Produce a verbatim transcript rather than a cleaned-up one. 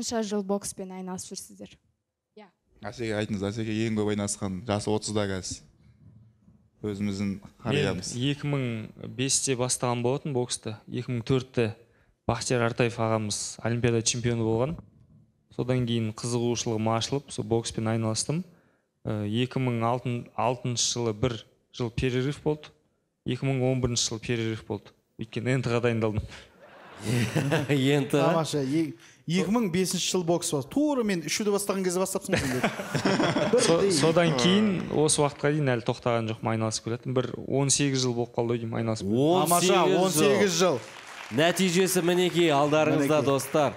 қанша жыл бокспен айналысып жүрсіздер? Әсеге айтыңыз, Әсеге ең көп айналысқан жасы отызда қазір. Өзіміздің қариямыз. екі мың бесте бастаған болатын боксты. екі мың төртте Бақтияр Артаев ағамыз Олимпиада чемпионы болған. Содан кейін қызығушылығым ашылып, сол бокспен айналыстым. екі мың алтыншы жылы бір жыл перерыв болды. екі мың он бірінші жыл перерыв болды. Өйткені эн тэ ға дайындалдым. эн тэ ға? Тамаша. екі мың бесінші жыл бокс бар. Тура мен үшуді бастаған кезде бастапсың сендер. Содан кейін осы уақытқа дейін әлі тоқтаған жоқпын, айналысып келатырмын. Бір он сегіз жыл болып қалды деймін, айналысып. он сегіз жыл. Нәтижесі мінекей алдарыңызда, достар.